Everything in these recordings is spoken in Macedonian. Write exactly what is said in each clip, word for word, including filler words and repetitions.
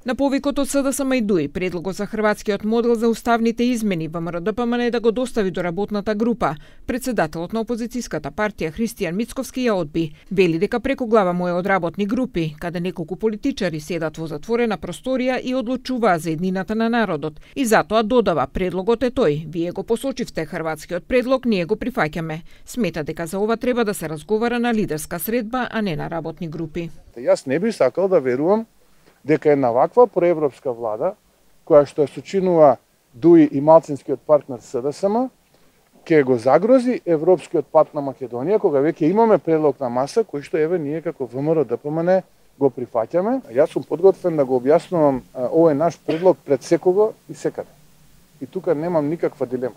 На повикот од СДСМ и ДУИ, предлогот за хрватскиот модел за уставните измени ВМРО-ДПМН да го достави до работната група. Председателот на опозицијската партија Христијан Мицковски ја одби. Вели дека преку глава му е од работни групи, каде неколку политичари седат во затворена просторија и одлучуваат за еднината на народот. И затоа додава, предлогот е тој. Вие го посочивте хрватскиот предлог, ние го прифаќаме. Смета дека за ова треба да се разговара на лидерска средба, а не на работни групи. Јас не би сакал да верувам дека една ваква проевропска влада, која што ја сочинува ДУИ и малцинскиот партнер СДСМ, ќе го загрози европскиот пат на Македонија, кога веќе имаме предлог на маса, кој што еве ние како ВМРО-ДПМН го прифаќаме. Јас сум подготвен да го објаснувам овој наш предлог пред секого и секаде. И тука немам никаква дилема.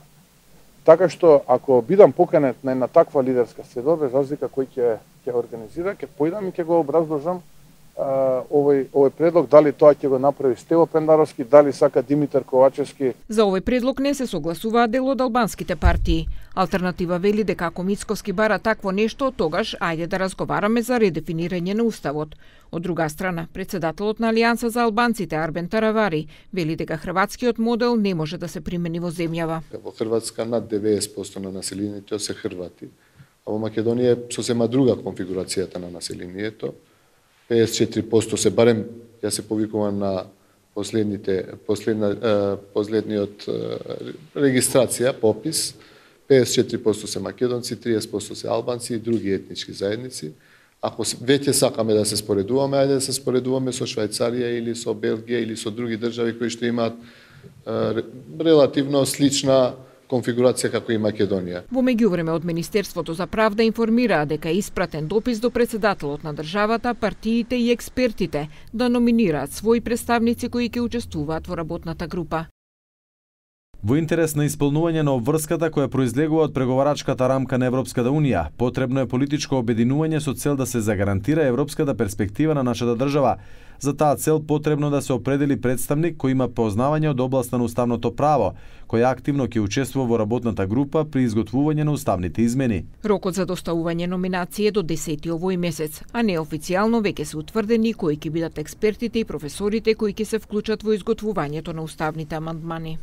Така што ако бидам поканет на една таква лидерска средба, без разлика кој ќе ќе организира, ќе појдам и ќе го образложам овој овој предлог, дали тоа ќе го направи Стево Пендаровски, дали сака Димитар Ковачевски. За овој предлог не се согласуваат дел од албанските партии. Алтернатива вели дека ако Мицковски бара такво нешто, тогаш ајде да разговараме за редефинирање на уставот. Од друга страна, председателот на Алијанса за албанците Арбен Таравари вели дека хрватскиот модел не може да се примени во земјава. Во Хрватска над деветдесет проценти на населението се Хрвати, а во Македонија е сосема друга конфигурацијата на населението. педесет и четири проценти се барем, ја се повикувам на последните последна последниот регистрација, попис. педесет и четири проценти се македонци, триесет проценти се албанци и други етнички заедници. Ако веќе сакаме да се споредуваме, ајде да се споредуваме со Швајцарија или со Белгија или со други држави кои што имаат релативно слична конфигурација како и Македонија. Во меѓувреме од Министерството за правда информираа дека е испратен допис до председателот на државата, партиите и експертите да номинираат своји представници кои ќе учествуваат во работната група. Во интерес на исполнување на обврската која произлегува од преговарачката рамка на Европската Унија, потребно е политичко обединување со цел да се загарантира европската перспектива на нашата држава. За таа цел потребно да се определи представник кој има познавање од областа на уставното право, кој активно ќе учествува во работната група при изготвување на уставните измени. Рокот за доставување номинации е до десети овој месец, а неофицијално веќе се утврдени кои ќе бидат експертите и професорите кои ќе се вклучат во изготвувањето на уставните амандмани.